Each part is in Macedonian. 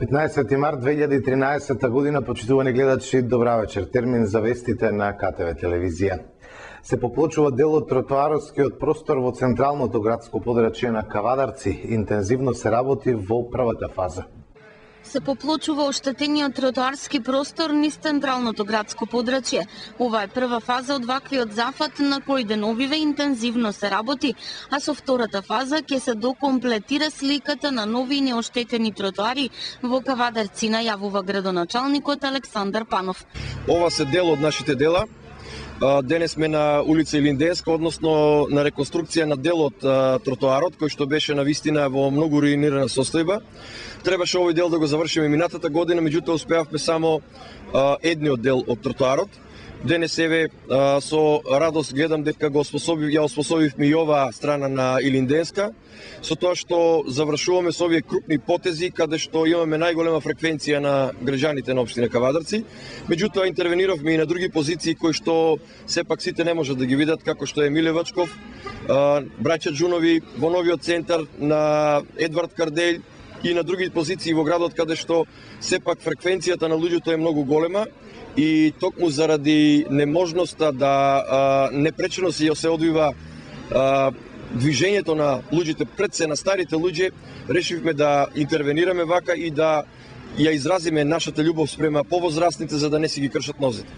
15 март 2013 година, почитувани гледачи, добра вечер. Термин за вестите на КТВ телевизија. Се поплочува дел од тротоарскиот простор во централното градско подрачје на Кавадарци. Интензивно се работи во првата фаза. Се поплочува оштетениот тротоарски простор низ централното градско подрачје. Ова е прва фаза од ваквиот зафат на кој деновиве интензивно се работи, а со втората фаза ќе се докомплетира сликата на нови и неоштетени тротоари во Кавадарци, најавува градоначалникот Александар Панов. Ова се дел од нашите дела. Денес сме на улица Илинденска, односно на реконструкција на дел од тротоарот, кој што беше навистина во многу руинирана состојба. Требаше овој дел да го завршиме минатата година, меѓутоа успеавме само едниот дел од тротоарот. Денес еве со радост гледам дека ја оспособивме и оваа страна на Илинденска, со тоа што завршуваме со овие крупни потези каде што имаме најголема фреквенција на граѓаните на општина Кавадарци. Меѓутоа интервениравме и на други позиции кои што сепак сите не можат да ги видат, како што е Милевачков, Браќа Џунови, во новиот центар на Едвард Карделј и на други позиции во градот каде што сепак фреквенцијата на луѓето е многу голема. И токму заради неможноста да непречено се одвива движењето на луѓето пред се на старите луѓе, решивме да интервенираме вака и да ја изразиме нашата љубов спрема повозрастните за да не си ги кршат нозите.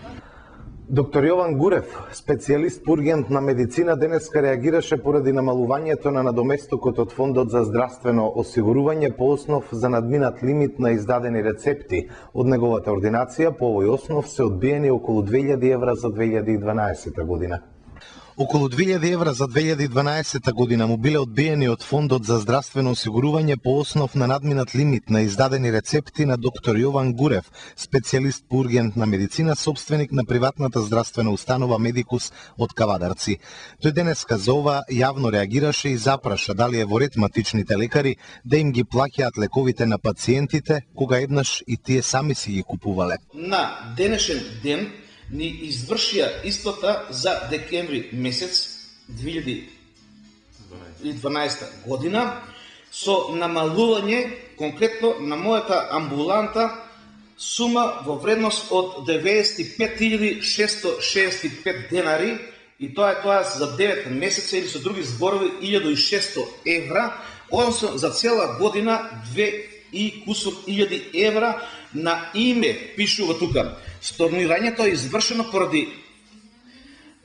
Доктор Јован Гурев, специјалист по ургентна на медицина, денеска реагираше поради намалувањето на надоместокот од Фондот за здравствено осигурување по основ за надминат лимит на издадени рецепти. Од неговата ординација по овој основ се одбиени околу 2000 евра за 2012 година. Околу 2000 евра за 2012 година му биле одбиени од Фондот за здравствено осигурување по основ на надминат лимит на издадени рецепти на доктор Јован Гурев, специјалист по ургентна медицина, собственик на приватната здравствена установа Медикус од Кавадарци. Тој денеска за ова јавно реагираше и запраша дали е во ред матичните лекари да им ги плаќаат лековите на пациентите, кога еднаш и тие сами си ги купувале. На денешен ден ни извршија исплата за декември месец 2012 година со намалување конкретно на мојата амбуланта сума во вредност од 95.665 денари и тоа е за 9 месеца или со други зборови 1600 евра, односно за цела година 2 и кусур илјади евра на име, пишува тука. Stornирањето е извршено поради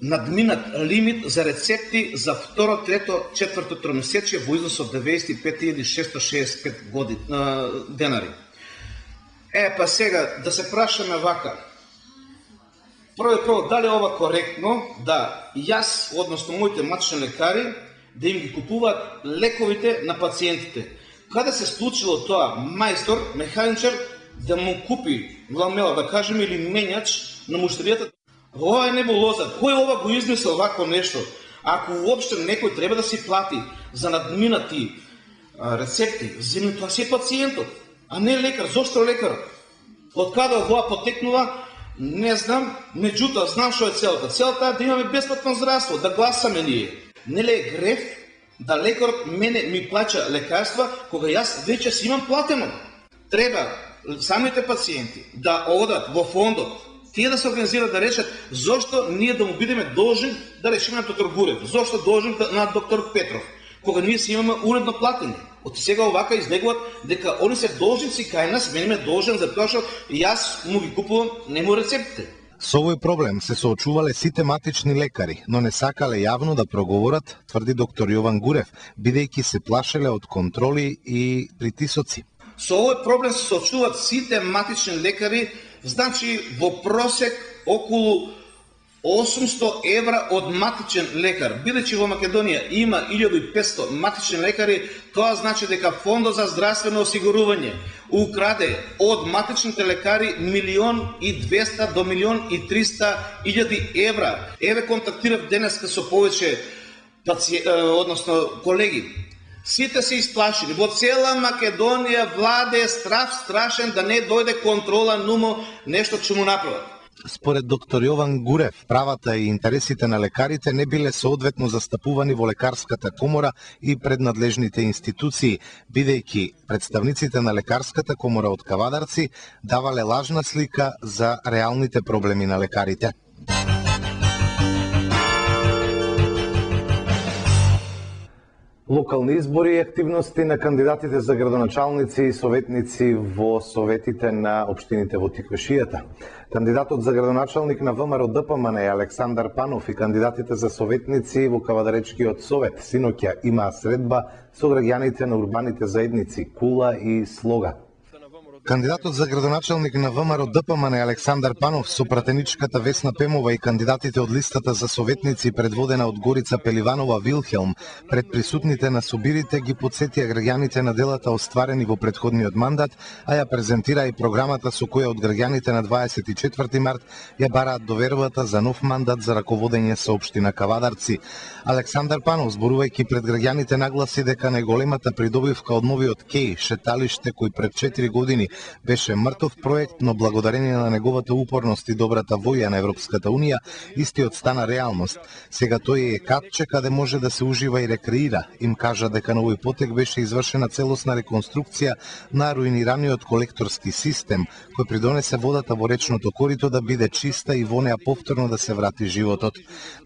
надминат лимит за рецепти за второ, трето, четврто тромесечие во износ од 95.665 денари. Па сега да се прашаме вака. Прво, дали е ова коректно да јас, односно моите матични лекари, да им ги купуваат лековите на пациентите? Каде се случило тоа мајстор, механичар, да му купи ламела, да кажеме, или менјач на муштеријата? Ова е небулоза. Кој ова го измислил вако нешто? Ако уопште некој треба да си плати за надминати рецепти, земе тоа си пациентот, а не лекар. Зошто лекар? Од каде ова потекнува? Не знам, меѓутоа знам што е целата. Целата е да имаме бесплатно здравство, да гласаме ние. Нели е греф да лекарот мене ми плаќа лекарства кога јас веќе си имам платено? Треба самите пациенти да одат во фондот, тие да се организираат да решат зошто ние да му бидеме должни да решиме на доктор Гурев, зошто должни на доктор Петров, кога ние си имаме уредно платење. Од сега овака излегуват дека они се должници кај нас, мене ме должен за тоа што јас му ги купувам нему рецептите. Со овој проблем се соочувале сите матични лекари, но не сакале јавно да проговорат, тврди доктор Јован Гурев, бидејќи се плашеле од контроли и притисоци. Со овој проблем се соочуваат сите матични лекари, значи во просек околу 800 евра од матичен лекар. Бидејќи во Македонија има 1500 матични лекари, тоа значи дека Фондот за здравствено осигурување украде од матичните лекари 1.200.000 до 1.300.000 евра. Еве контактирав денеска со повеќе односно колеги. Сите се исплашени. Во цела Македонија владе страв страшен да не дојде контрола нумо нешто ќе му направат. Според доктор Јован Гурев, правата и интересите на лекарите не биле соодветно застапувани во лекарската комора и пред надлежните институции, бидејќи представниците на лекарската комора од Кавадарци давале лажна слика за реалните проблеми на лекарите. Локални избори и активности на кандидатите за градоначалници и советници во советите на општините во Тиквешијата. Кандидатот за градоначалник на ВМРО ДПМН Александар Панов и кандидатите за советници во Кавадаречкиот совет синоќа имаа средба со граѓаните на урбаните заедници Кула и Слога. Кандидатот за градоначалник на ВМРО ДПМН Александар Панов со пратеничката Весна Пемова и кандидатите од листата за советници предводена од Горица Пеливанова Вилхелм пред присутните на собирите ги потсетија граѓаните на делата остварени во претходниот мандат, а ја презентира и програмата со која од граѓаните на 24 март ја бараат довербата за нов мандат за раководење со општина Кавадарци. Александар Панов, зборувајќи пред граѓаните, нагласи дека најголемата придобивка од новиот КЕИ, шеталиште кој пред 4 години беше мртов проект, но благодарение на неговата упорност и добрата воја на Европската Унија, истиот стана реалност. Сега тој е катче каде може да се ужива и рекреира. Им кажа дека на овој потек беше извршена целосна реконструкција на руинираниот колекторски систем, кој придонесе водата во речното корито да биде чиста и во неа повторно да се врати животот.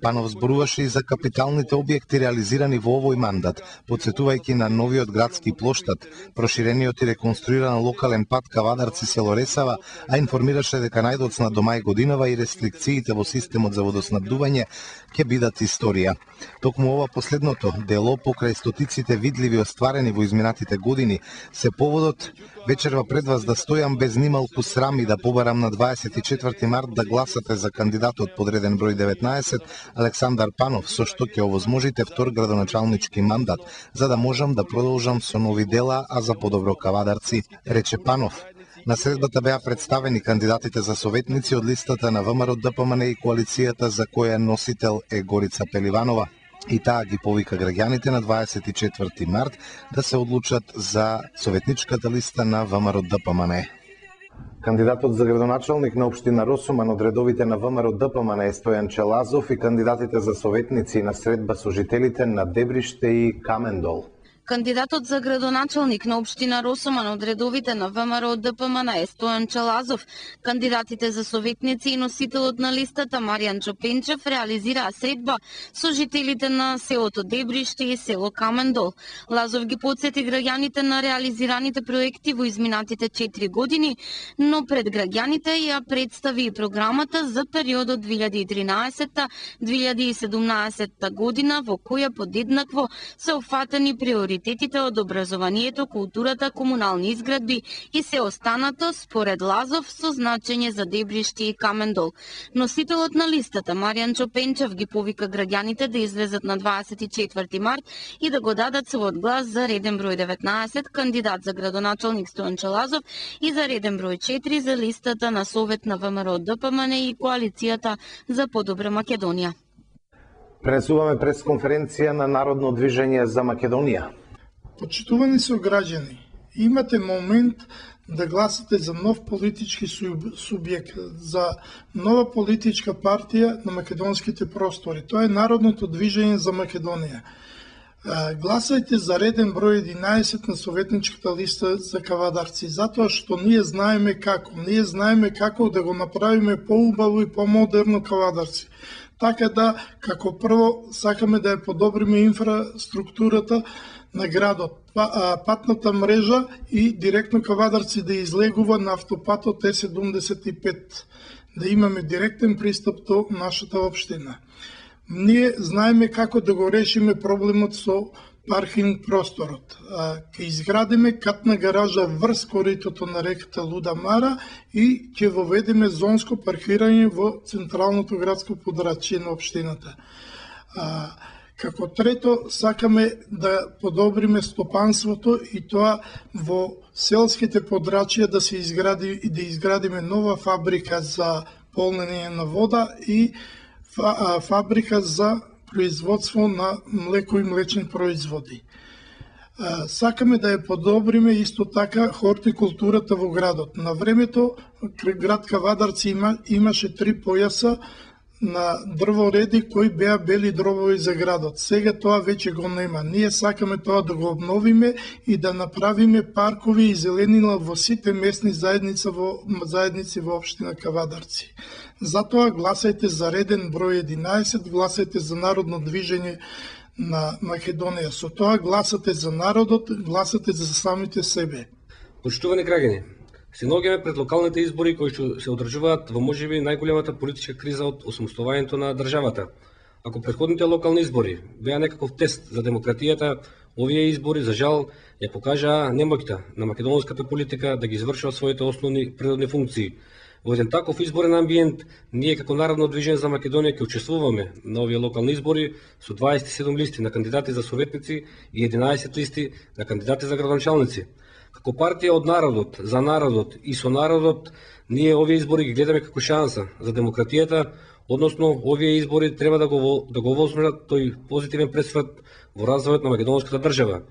Панов зборуваше и за капиталните објекти реализирани во овој мандат, потсетувајќи на новиот градски плоштад, проширениот и реконструиран локален пат Кавадарци село Ресава, а информираше дека најдоцна до мај годинава и рестрикциите во системот за водоснабдување ќе бидат историја. Токму ова последното дело покрај стотиците видливи остварени во изминатите години се поводот вечерва пред вас да стојам без нималку срам и да побарам на 24 март да гласате за кандидатот подреден број 19 Александар Панов, со што ќе овозможите втор градоначалнички мандат, за да можам да продолжам со нови дела, а за подобро Кавадарци, рече Панов. На средбата беа представени кандидатите за советници од листата на ВМРО ДПМН и коалицијата за која носител е Горица Пеливанова. И таа ги повика граѓаните на 24 март да се одлучат за советничката листа на ВМРО ДПМН. Кандидатот за градоначалник на општина Росуман од редовите на ВМРО ДПМН е Стојан Челазов и кандидатите за советници на средба со жителите на Дебриште и Камендол. Кандидатот за градоначалник на општина Росуман од редовите на ВМРО ДПМН е Стојан Челазов. Кандидатите за советници и носителот на листата Маријан Чопенчев реализираа средба со жителите на селото Дебриште и село Камендол. Лазов ги потсети граѓаните на реализираните проекти во изминатите 4 години, но пред граѓаните ја представи и програмата за периодот 2013-2017 година, во која подеднакво се офатени приоритети од образованието, културата, комунални изградби и се останато, според Лазов, со значење за Дебриште и Камендол. Носителот на листата, Маријан Чопенчев, ги повика граѓаните да излезат на 24 март и да го дадат својот глас за реден број 19, кандидат за градоначалник Стојан Челазов, и за реден број 4 за листата на Совет на ВМРО ДПМН и коалицијата за подобра Македонија. Пренесуваме пресконференција на Народно движење за Македонија. Почитувани се граѓани, имате момент да гласате за нов политички субјект, за нова политичка партија на македонските простори. Тоа е Народното движење за Македонија. Гласајте за реден број 11 на советничката листа за Кавадарци, затоа што ние знаеме како да го направиме поубаво и помодерно Кавадарци. Така да, како прво, сакаме да ја подобриме инфраструктурата на градот, патната мрежа и директно Кавадарци да излегува на автопатот Е75, да имаме директен пристап до нашата општина. Ние знаеме како да го решиме проблемот со паркинг просторот. Ќе изградиме катна гаража врз коритото на реката Луда Мара и ќе воведеме зонско паркирање во централното градско подрачје на општината. Како трето, сакаме да подобриме стопанството и тоа во селските подрачја да се изгради и да изградиме нова фабрика за полнење на вода и фабрика за производство на млеко и млечни производи. Сакаме да ја подобриме исто така хортикултурата во градот. На времето град Кавадарци имаше 3 појаса на дрвореди кои беа бели дробови за градот. Сега тоа веќе го нема. Ние сакаме тоа да го обновиме и да направиме паркови и зеленила во сите местни заедници во општина Кавадарци. Затоа гласајте за реден број 11, гласајте за Народно движење на Македонија. Со тоа гласате за народот, гласате за самите себе. Почитувани граѓани, се наоѓаме пред локалните избори кои што се одржуваат во можеби најголемата политичка криза од осамостојањето на државата. Ако претходните локални избори беа некаков тест за демократијата, овие избори за жал ја покажаа немоќта на македонската политика да ги извршува своите основни природни функции. Во еден таков изборен амбиент, ние како Народно движење за Македонија ќе учествуваме на овие локални избори со 27 листи на кандидати за советници и 11 листи на кандидати за градоначалници. Како партија од народот, за народот и со народот, ние овие избори ги гледаме како шанса за демократијата, односно овие избори треба да го возможат тој позитивен пресврт во развојот на македонската држава.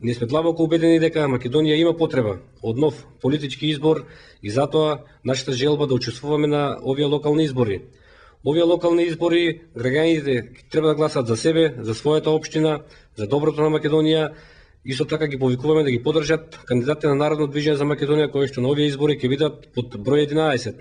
Ние сме длабоко убедени дека Македонија има потреба од нов политички избор и затоа нашата желба да учествуваме на овие локални избори. Овие локални избори граѓаните треба да гласат за себе, за својата општина, за доброто на Македонија. Исто така ги повикуваме да ги поддржат кандидатите на Народно движење за Македонија кои што на овие избори ќе бидат под број 11.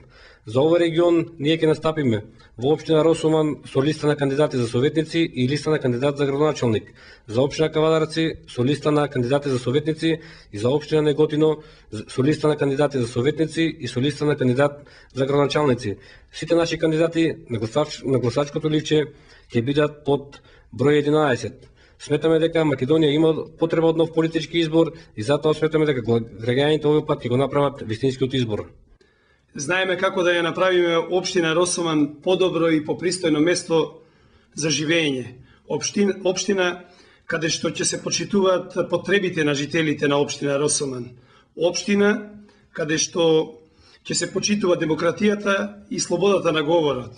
За овој регион ние ќе настапиме во општина Росуман со листа на кандидати за советници и листа на кандидат за градоначалник, за општина Кавадарци со листа на кандидати за советници и за општина Неготино со листа на кандидати за советници и со листа на кандидат за градоначалници. Сите наши кандидати на гласачкото ливче ќе бидат под број 11. Сметаме дека Македонија има потреба од нов политички избор и затоа сметаме дека граѓаните овој пат ќе го направат вистинскиот избор. Знаеме како да ја направиме општина Росуман подобро и попристојно место за живење. Општина каде што ќе се почитуваат потребите на жителите на општина Росуман. Општина каде што ќе се почитува демократијата и слободата на говорот.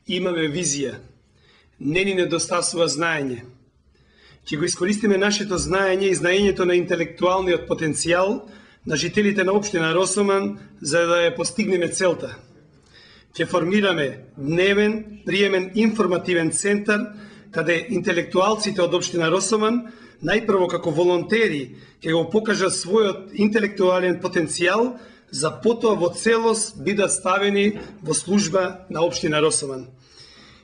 Имаме визија. Не ни недостасува знаење. Ќе го искористиме нашето знаење и знаењето на интелектуалниот потенцијал на жителите на општина Росуман за да ја постигнеме целта. Ќе формираме дневен, приемен информативен центар каде интелектуалците од општина Росуман најпрво како волонтери ќе го покажат својот интелектуален потенцијал за потоа во целост бидат ставени во служба на општина Росуман.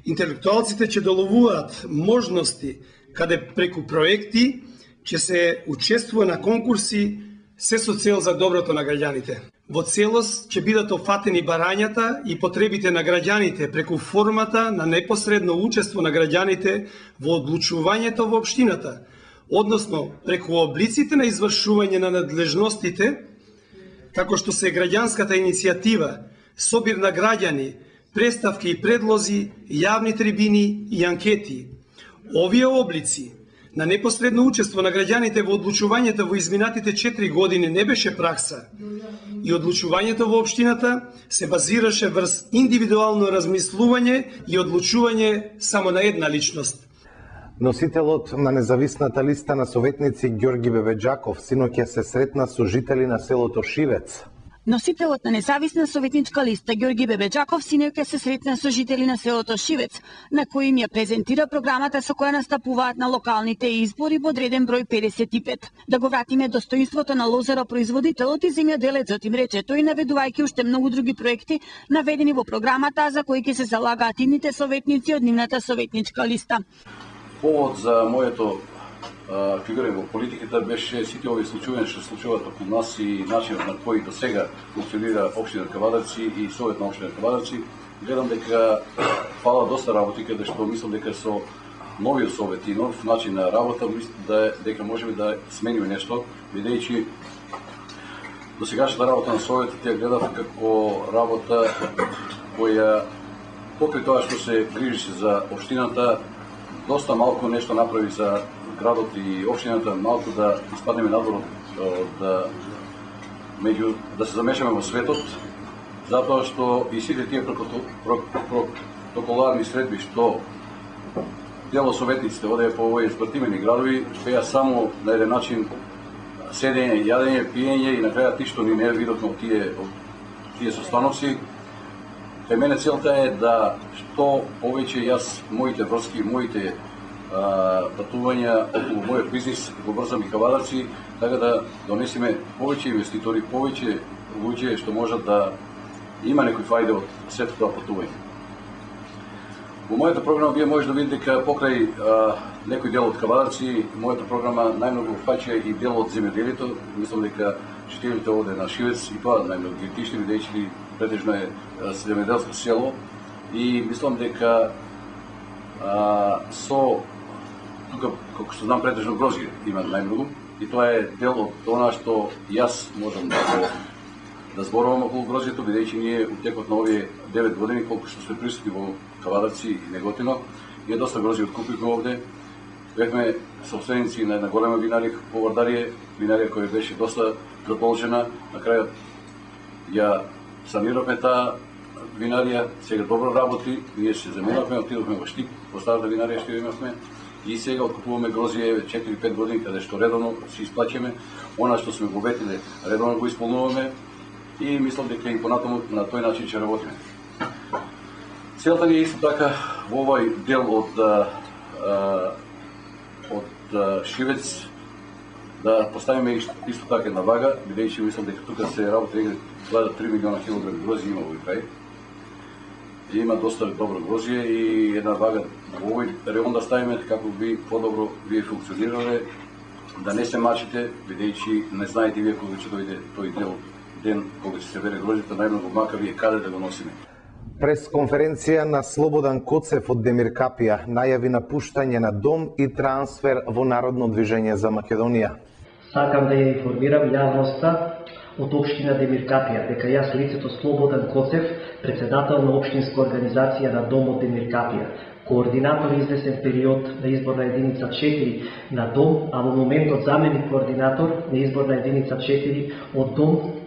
Интелектуалците ќе доловуваат можности каде преку проекти ќе се учествува на конкурси се со цел за доброто на граѓаните. Во целост ќе бидат офатени барањата и потребите на граѓаните преку формата на непосредно учество на граѓаните во одлучувањето во општината, односно преку облиците на извршување на надлежностите, како што се граѓанската иницијатива, собир на граѓани, представки и предлози, јавни трибини и анкети. Овие облици на непосредно учество на граѓаните во одлучувањето во изминатите 4 години не беше пракса и одлучувањето во општината се базираше врз индивидуално размислување и одлучување само на една личност. Носителот на независната листа на советници Ѓорги Бебеџаков синоќа се сретна со жители на селото Шивец. Носителот на независна советничка листа Ѓорги Бебеџаков синоќа се сретна со жители на селото Шивец, на кои им ја презентира програмата со која настапуваат на локалните избори под реден број 55. Да го вратиме достоинството на лозаропроизводителот и земјоделецот, им рече тој, наведувајќи уште многу други проекти наведени во програмата за кои ќе се залагаат идните советници од нивната советничка листа. Повод за моето фигура во политиката беше сите овие случаи што се случуваат околу нас и начинот на кој до сега функционира општина Кавадарци и совет на општина Кавадарци. Гледам дека фала доста работи, каде што мислам дека со новиот совет и нов начин на работа дека можеме да смениме нешто, бидејќи до сегашната работа на советот ја гледав како работа која покрај тоа што се грижи за општината, доста малку нешто направи за градот и општината, малку да испаднеме надвор да се замешаме во светот, затоа што и сите тие протоколарни средби што дел од советниците оде по овие спортивни градови, беа само на еден начин седење, јадење, пиење и на крај ти што ни не видовме од тие состаноци. Кај мене целта е да што повеќе јас моите врски, моите патувања околу мојот бизнис го брзам и Кавадарци, така да донесеме повеќе инвеститори, повеќе луѓе што можат да има некој фајде од сето тоа патување. Во мојата програма вие може да видите дека покрај некој дел од Кавадарци, мојата програма најмногу фаќа и дел од земјоделието. Мислам дека жителите овде на Шивец и тоа најмногу ги тишни, бидејќи претежно е земјоделско село, и мислам дека тука, како што знам, претежно грозје има најмногу, и тоа е дел од она што јас можам да зборувам околу грозјето, бидејќи ние у текот на овие 9 години, колку што сме присутни во Кавадарци и Неготино, ние доста грозје откупивме овде. Бевме собственици на една голема винарија во Вардарие, винарија која беше доста предположена. На крајот ја саниравме таа винарија, сега добро работи, ние се заминавме, отидовме во Штип, во старата винарија што имавме, и сега откупуваме грозје 4-5 години, каде што редовно се исплаќаме. Она што сме го ветиле, редовно го исполнуваме, и мислам дека и понатаму на тој начин ќе работиме. Целта ни е исто така во овој дел од Шивец да поставиме исто така една вага, бидејќи мислам дека тука се работи 3 милиона килограми грозје има во овој крај. И има доста добро грозје и една вага во овој район да ставиме како би подобро вие функционирале, да не се мачите, бидејќи не знаете вие кога ќе дојде тој ден кога ќе се бере грозјето, најмногу мака вие каде да го носиме. Пресконференција на Слободан Коцев од Демиркапија најави напуштање на дом и трансфер во Народно движење за Македонија. Сакам да ја информирам јавноста од општина Демиркапија дека јас лицето Слободан Коцев, председател на општинска организација на Домот Демиркапија, координатор извесен период на изборна единица 4 на Дом, а во моментот заменик координатор на изборна единица 4 од Дом,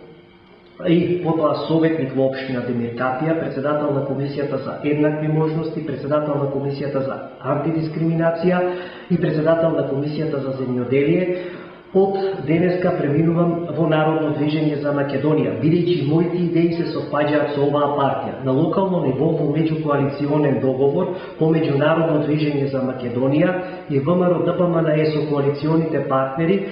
и потоа советник во општина Демиркапија, председател на Комисијата за еднакви можности, председател на Комисијата за антидискриминација и председател на Комисијата за земјоделие. Од денеска преминувам во Народно движење за Македонија, бидејќи моите идеи се совпаѓаат со оваа партија. На локално ниво во меѓукоалиционен договор помеѓу Народно движење за Македонија и ВМРО-ДПМНЕ со коалиционите партнери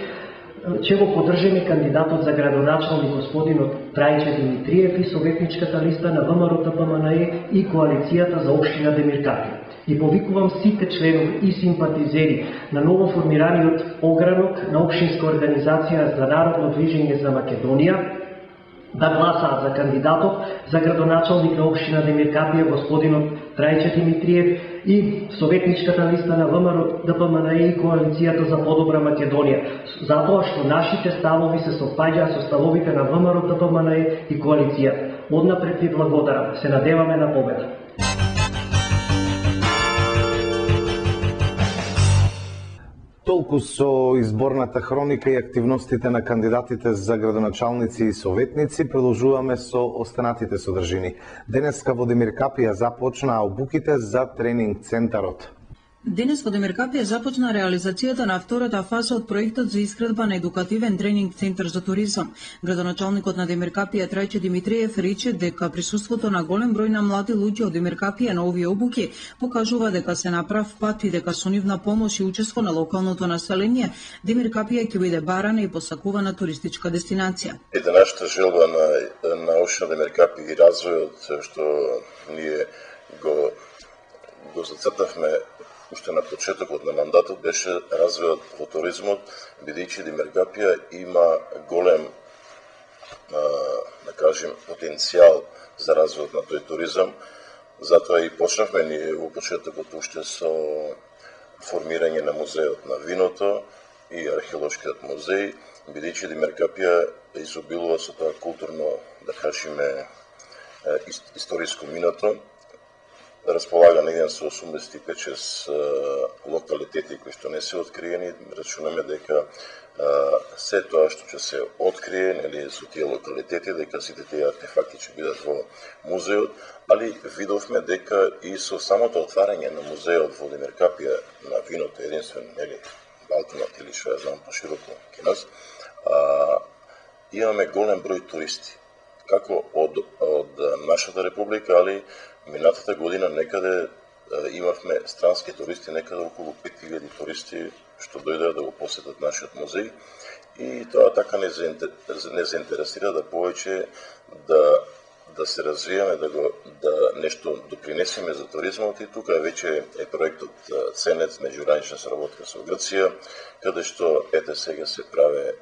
ќе го поддржиме кандидатот за градоначалник господинот Трајче Димитриев и советничката листа на ВМРО-ДПМНЕ и коалицијата за општина Демиркапија. И повикувам сите членови и симпатизери на новоформираниот огранок на општинска организација за Народно движење за Македонија да гласаат за кандидатот за градоначалник на општина Демиркапија господинот Трајче Димитриев и советничката листа на ВМРО-ДПМНЕ и коалицијата за подобра Македонија, затоа што нашите ставови се совпаѓаат со ставовите на ВМРО-ДПМНЕ и коалицијата. Однапред ви благодарам. Се надеваме на победа. Толку со изборната хроника и активностите на кандидатите за градоначалници и советници, продолжуваме со останатите содржини. Денеска во Демиркапија започнаа обуките за тренинг центарот. Денес во Демиркапија започна реализацијата на втората фаза од проектот за изградба на едукативен тренинг центар за туризам. Градоначалникот на Демиркапија Трајче Димитриев рече дека присуството на голем број на млади луѓе од Демиркапија на овие обуки покажува дека се на прав пат и дека со нивна помош и учество на локалното население Демиркапија ќе биде барана и посакувана туристичка дестинација. Нашата желба на општина Демиркапија и развојот што ние го зацртавме уште на почетокот на мандатот беше развојот во туризмот, бидејќи Демиркапија има голем, да кажем, потенцијал за развојот на тој туризам. Затоа и почнавме ние во почетокот уште со формирање на музеот на виното и археолошкиот музеј, бидејќи Демиркапија изобилува со тоа културно, да кажеме, историско минато. располага негде со 85-6 локалитети кои што не се откриени. Рачунаме дека се тоа што ќе се открие, нели, со тие локалитети, дека сите тие артефакти ќе бидат во музеот, али видовме дека и со самото отварање на музеот во Демиркапија на виното единствен, нели, Балканот или што ја знам пошироко кај нас, имаме голем број туристи, како од нашата република, али минатата година некаде имавме странски туристи, некаде околу 5000 туристи што дојдеа да го посетат нашиот музеј, и тоа така не заинтересира да повеќе да се развиеме, да нешто допринесеме за туризмот, и тука веќе е проектот Ценец, меѓугранична соработка со Грција, каде што ете сега се праве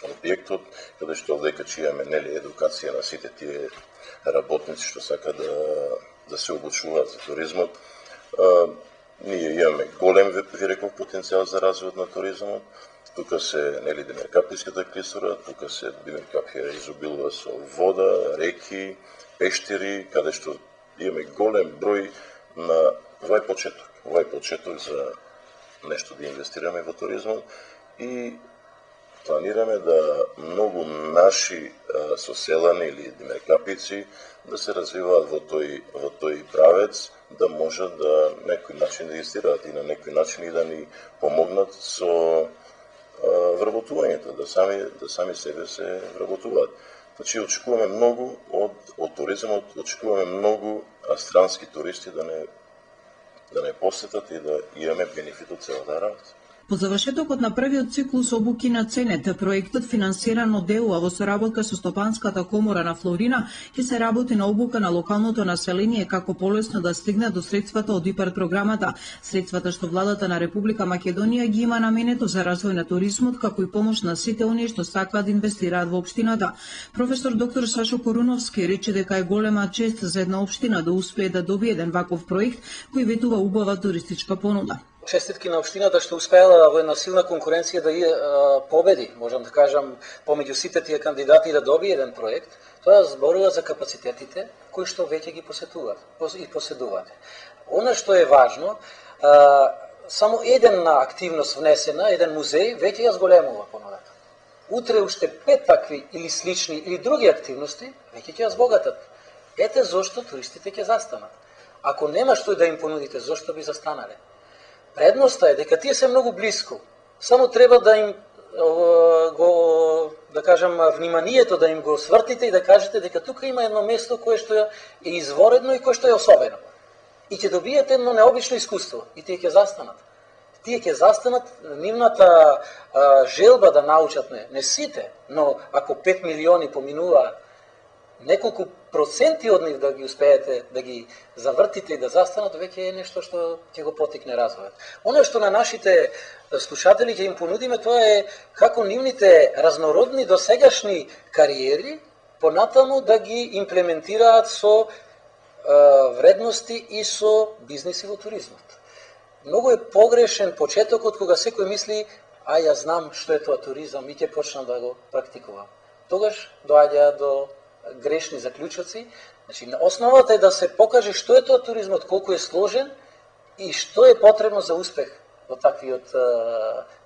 објектот, каде што овдека ќе имаме, нели, едукација на сите тие работници што сака да се обучуваат за туризмот. Ние имаме голем, ви реков, потенцијал за развојот на туризмот. Тука се, нели, Демиркаписката клисура, тука се Демиркапија изобилува со вода, реки, пештери, каде што имаме голем број на овај почеток за нешто да инвестираме во туризмот, и планираме да многу наши соселани или демиркапици да се развиваат во тој правец, да можат да на некој начин да инвестираат и на некој начин и да ни помогнат со вработувањето, да сами себе се вработуваат. Значи, очекуваме многу од туризмот, очекуваме многу странски туристи да не посетат и да имаме бенефит од целата работа. По завршетокот на првиот циклус обуки на Ценет, проектот финансиран од ДЕУ во соработка со Стопанската комора на Флорина, ќе се работи на обука на локалното население како полесно да стигне до средствата од ИПАР програмата, средствата што владата на Република Македонија ги има наменето за развој на туризмот, како и помош на сите оние што сакаат да инвестираат во општината. Професор доктор Сашо Коруновски рече дека е голема чест за една општина да успее да добие еден ваков проект кој ветува убава туристичка понуда. Честитки на општината што успеала во една силна конкуренција да победи, можам да кажам, помеѓу сите тие кандидати да добие еден проект. Тоа зборува за капацитетите кои што веќе ги поседуваат. Она што е важно, само една активност внесена, еден музеј веќе ја зголемува понудата. Утре уште 5 такви или слични или други активности веќе ќе ја збогатат. Ете зошто туристите ќе застанат. Ако нема што да им понудите, зошто би застанале? Предноста е дека тие се многу близко. Само треба да им да кажам, вниманието да им го свртите и да кажете дека тука има едно место кое што е изворедно и кое што е особено. И ќе добиете едно необично искуство и тие ќе застанат. Тие ќе застанат, нивната желба да научат не сите, но ако 5 милиони поминуваат, неколку проценти од нив да ги успеете да ги завртите и да застанат, веќе е нешто што ќе го потикне развојот. Оно што на нашите слушатели ќе им понудиме, тоа е како нивните разнородни досегашни кариери понатаму да ги имплементираат со вредности и со бизниси во туризмот. Многу е погрешен почетокот кога секој мисли, ја знам што е тоа туризам и ќе почнам да го практикувам. Тогаш доаѓа до грешни заклучоци. Значи, основата е да се покаже што е тоа туризмот, колку е сложен и што е потребно за успех во таквиот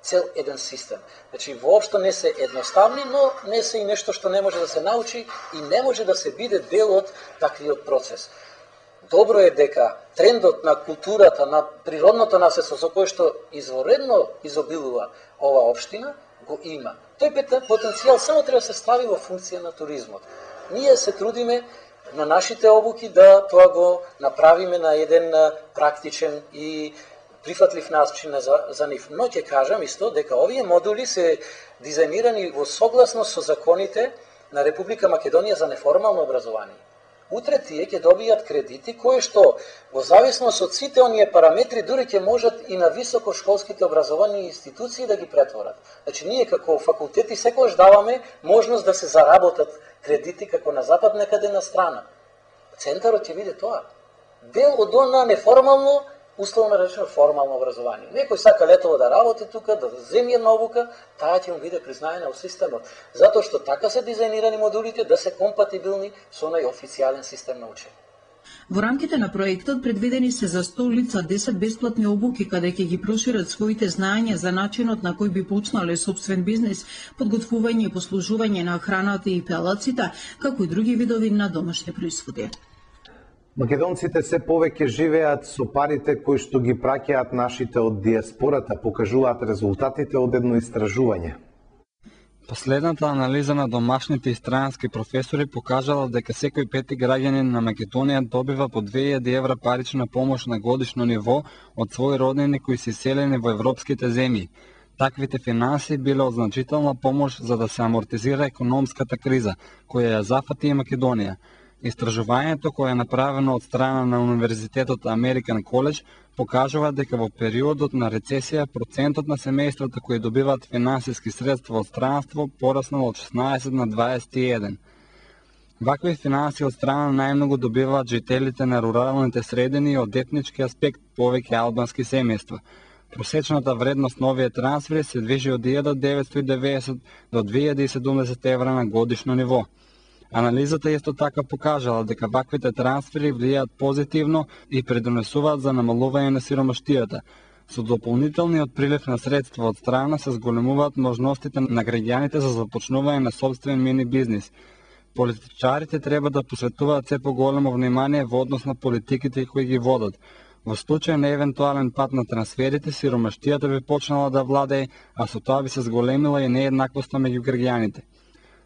цел еден систем. Значи, воопшто не се едноставни, но не се и нешто што не може да се научи и не може да се биде дел од таквиот процес. Добро е дека трендот на културата, на природното наследство со кое што изворедно изобилува ова општина, го има. Тој потенцијал само треба да се стави во функција на туризмот. Ние се трудиме на нашите обуки да тоа го направиме на еден практичен и прифатлив начин за нив. Но ќе кажам исто дека овие модули се дизајнирани во согласност со законите на Република Македонија за неформално образование. Утре тие ќе добијат кредити кои што во зависност од сите оние параметри дури ќе можат и на високошколските образовани институции да ги претворат. Значи ние како факултети секогаш даваме можност да се заработат кредити како на запад некаде на страна. Центарот ќе биде тоа. Дел од она неформално, условно речено формално образование. Некој сака летово да работи тука, да земи една обука, таа ќе му биде признаена во системот. Затоа што така се дизајнирани модулите да се компатибилни со онај официјален систем на учење. Во рамките на проектот предвидени се за 100 лица 10 бесплатни обуки каде ќе ги прошират своите знаења за начинот на кој би почнале собствен бизнис, подготвување и послужување на храната и пелаците, како и други видови на домашни производи. Македонците се повеќе живеат со парите кои што ги праќаат нашите од диаспората, покажуваат резултатите од едно истражување. Последната анализа на домашните и странски професори покажала дека секој пети граѓанин на Македонија добива по 2000 евра парична помош на годишно ниво од своји роднини кои се селени во европските земји. Таквите финанси биле од значителна помош за да се амортизира економската криза, која ја зафати и Македонија. Истражувањето кое е направено од страна на Универзитетот American College покажува дека во периодот на рецесија процентот на семејствата кои добиваат финансиски средства од странство пораснал од 16 на 21. Вакви финанси од страна најмногу добиваат жителите на руралните средини и од етнички аспект повеќе албански семејства. Просечната вредност на овие трансфери се движи од 1990 до 2070 евра на годишно ниво. Анализата исто така покажала дека ваквите трансфери влијаат позитивно и придонесуваат за намалување на сиромаштијата. Со дополнителниот прилив на средства од страна се зголемуваат можностите на граѓаните за започнување на собствен мини бизнис. Политичарите треба да посветуваат се поголемо внимание во однос на политиките кои ги водат. Во случај на евентуален пат на трансферите, сиромаштијата би почнала да владее, а со тоа би се зголемила и нееднаквоста меѓу граѓаните.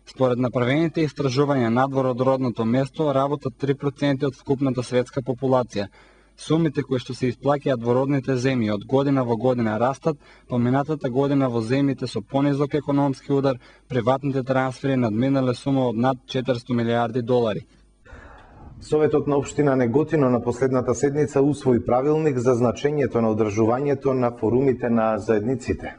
Според направените истражувања надвор од родното место, работат 3% од вкупната светска популација. Сумите кои што се исплаќаат во родните земји од година во година растат, поминатата година во земјите со понизок економски удар, приватните трансфери надминале сума од над 400 милиарди долари. Советот на општина Неготино на последната седница усвои правилник за значењето на одржувањето на форумите на заедниците.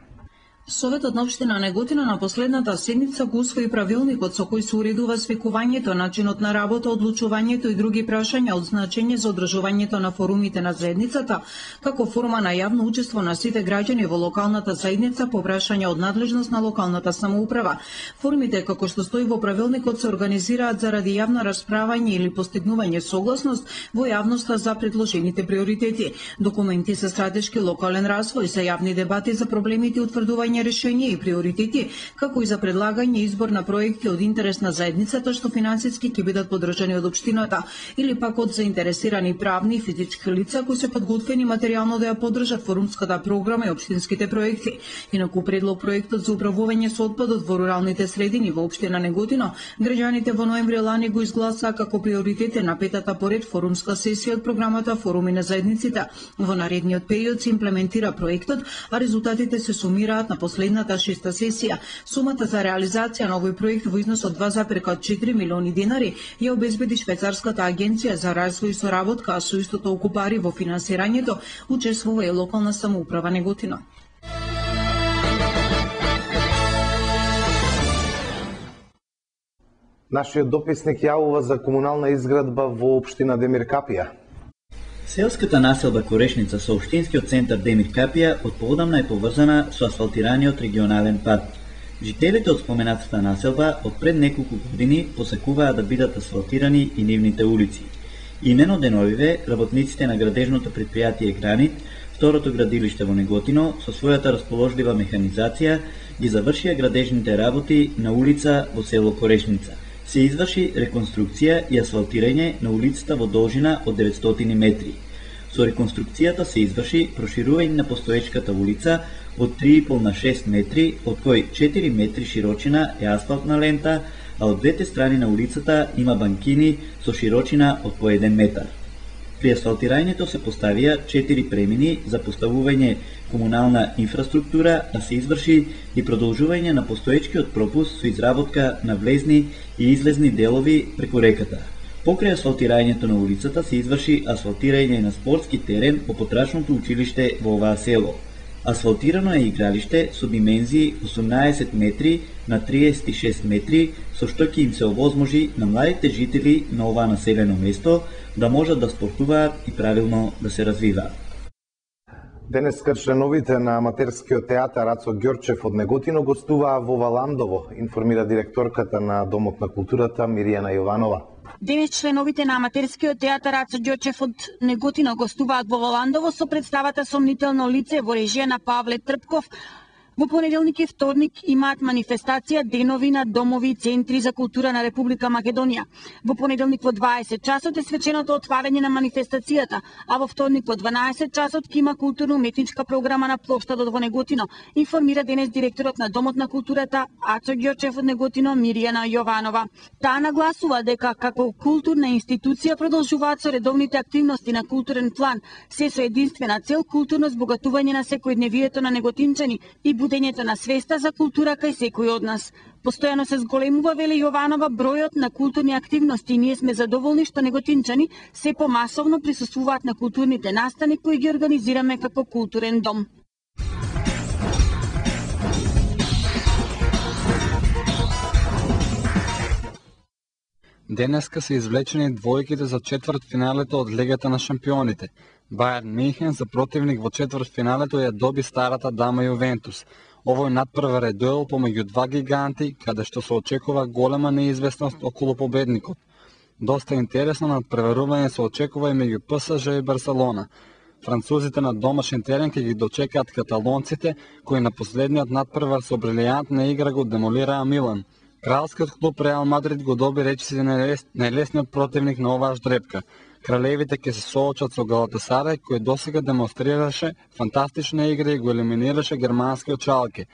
Советот на општина Неготино на последната седница го усвои правилникот со кој се уредува свекувањето, начинот на работа, одлучувањето и други прашања од значење за одржувањето на форумите на заедницата, како форма на јавно учество на сите граѓани во локалната заедница по прашања од надлежност на локалната самоуправа. Форумите, како што стои во правилникот, се организираат заради јавно расправање или постигнување согласност во јавноста за предложените приоритети. Документи за стратешки локален развој, за јавни дебати за проблемите и утврдување решенија и приоритети, како и за предлагање и избор на проекти од интерес на заедницата што финансиски ќе бидат поддржани од општината или пак од заинтересирани правни и физички лица кои се подготвени материјално да ја поддржат форумската програма и општинските проекти. Инаку предлог проектот за управување со отпадот во руралните средини во општина Неготино, граѓаните во ноември лани го изгласаа како приоритет на петата поред форумска сесија од програмата Форуми на заедниците. Во наредниот период се имплементира проектот, а резултатите се сумираат на последната шеста сесија. Сумата за реализација на овој проект во износ од 2,4 милиони денари ја обезбеди Швајцарската агенција за развој и соработка, а со истото окупари во финансирањето учествува и локална самоуправа Неготино. Нашиот дописник јавува за комунална изградба во општина Демиркапија. Селската населба Корешница со општинскиот центар Демиркапија од поодамна е поврзана со асфалтираниот регионален пат. Жителите од споменатата населба од пред неколку години посакуваа да бидат асфалтирани и нивните улици. Имено деновиве работниците на градежното предпријатие Гранит, второто градилиште во Неготино, со својата расположлива механизација ги завршија градежните работи на улица во село Корешница. Се изврши реконструкција и асфалтирање на улицата во должина од 900 метри. Со реконструкцијата се изврши проширување на постоечката улица од 3,5 на 6 метри, од кои 4 метри широчина е асфалтна лента, а од двете страни на улицата има банкини со широчина од по 1 метар. При асфалтирањето се поставија 4 премини за поставување комунална инфраструктура, а се изврши и продолжување на постоечкиот пропуст со изработка на влезни и излезни делови преку реката. Покрај асфалтирањето на улицата се изврши асфалтирање на спортски терен по потрачното училиште во оваа село. Асфалтирано е игралиште со димензии 18 метри на 36 метри, со што ќе им се овозможи на младите жители на оваа населено место да можат да спортуваат и правилно да се развиваат. Денеска членовите на аматерскиот театар Ацо Ѓорчев од Неготино гостуваа во Валандово, информира директорката на Домот на културата Миријана Јованова. Денес членовите на аматерскиот театар Ацо Ѓорчев од Неготино гостуваат во Валандово со представата Сомнително лице во режија на Павле Трпков. Во понеделник и вторник имаат манифестација денови на домови и центри за култура на Република Македонија. Во понеделник во 20 часот е свеченото отварање на манифестацијата, а во вторник во 12 часот ќе има културно-уметничка програма на плоштадот во Неготино, информира денес директорот на Домот на културата Ацо Ѓорчев од Неготино Миријана Јованова. Таа нагласува дека како културна институција продолжуваат со редовните активности на културен план, се со единствена цел културно збогатување на секојдневието на неготинчани и будењето на свеста за култура кај секој од нас. Постојано се зголемува, вели Јованова, бројот на културни активности и ние сме задоволни што неготинчани се помасовно присуствуваат на културните настани кои ги организираме како културен дом. Денеска се извлечени двојките за четвртфиналето од Лигата на шампионите. Бајерн Мюнхен за противник во четвртфиналето ја доби старата дама Јувентус. Овој надпревар е дуел помеѓу два гиганти, каде што се очекува голема неизвестност околу победникот. Доста интересно надпреварување се очекува и меѓу ПСЖ и Барселона. Французите на домашен терен ќе ги дочекаат каталонците, кои на последниот надпревар со брилијантна игра го демолираа Милан. Кралскиот клуб Реал Мадрид го доби речиси најлесниот противник на оваа ждрепка. Кралевите ќе се соочат со Галатасарај, кој досега демонстрираше фантастична игра и го елиминираше германскиот Шалке.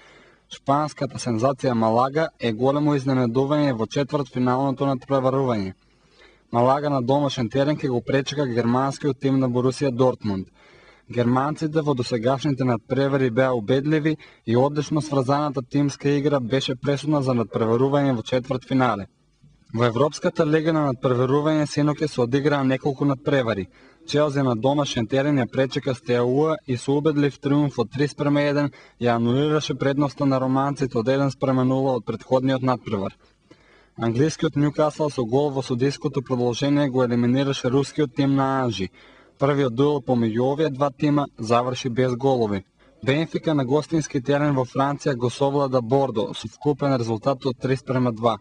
Шпанската сензација Малага е големо изненадување во четвртфиналното надпреварување. Малага на домашен терен ќе го пречека германскиот тим на Борусија Дортмунд. Германците во досегашните надпревари беа убедливи и одлично сврзаната тимска игра беше пресудна за надпреварување во четвртфинале. Во Европската лига на надпреварување синоќа се одиграа неколку надпревари. Челси на домашен терен ја пречека Стеауа и со убедлив триумф од 3:1 ја анулираше предноста на романците од 1:0 од претходниот надпревар. Англискиот Нјукасл со гол во судиското продолжение го елиминираше рускиот тим на Анжи. Првиот дуел помеѓу овие два тима заврши без голови. Бенфика на гостински терен во Франција го совлада Бордо со вкупен резултат од 3:2.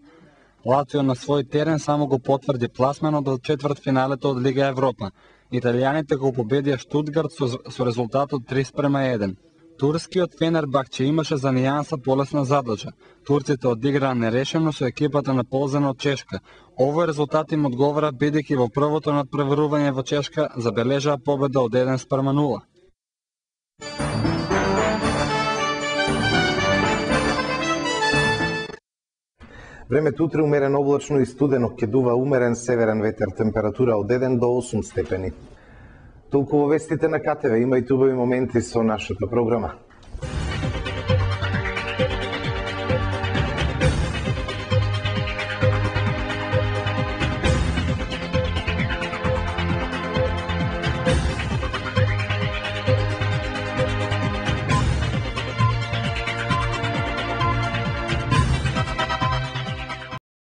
Лацио на свој терен само го потврди пласменот од четвртфиналето од Лига Европа. Италијаните го победија Штутгарт со резултат од 3:1. Турскиот Фенербахче имаше за нијанса полесна задача. Турците одиграа нерешено со екипата на Ползен од Чешка. Овој резултат им одговара бидејќи во првото надпреварување во Чешка забележаа победа од 1:0. Времето утре умерено облачно и студено, ќе дува умерен северен ветер, температура од 1 до 8 степени. Толку во вестите на КТВ, има и убави моменти со нашата програма.